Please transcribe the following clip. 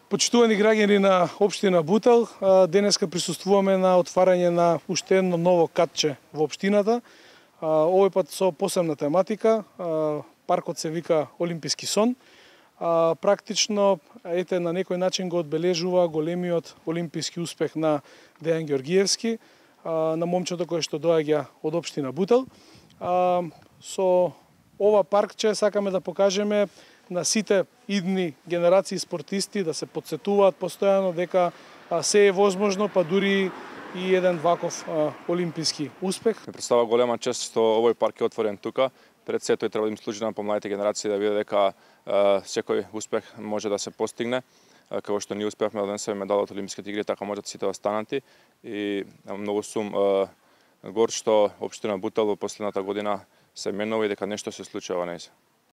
Почитувани граѓани на општина Бутел, денеска присуствуваме на отварање на уште едно ново катче во општината. Овој пат со посебна тематика. Паркот се вика Олимписки сон. Практично, ете, на некој начин го одбележува големиот олимписки успех на Дејан Ѓоргиевски, на момчето кој што доаѓа од општина Бутел. Со ова паркче сакаме да покажеме на сите идни генерации спортисти да се подсетуваат постојано дека се е возможно, па дури и еден ваков олимписки успех. Ми представува голема чест што овој парк е отворен тука. Пред се тој треба да им служи на помладите генерации да види дека секој успех може да се постигне. Како што ние успеавме да донесеме медал од Олимписките игри, така можат сите останати. И многу сум гор што општина Бутел во последната година се менува и дека нешто се случува во нејзе.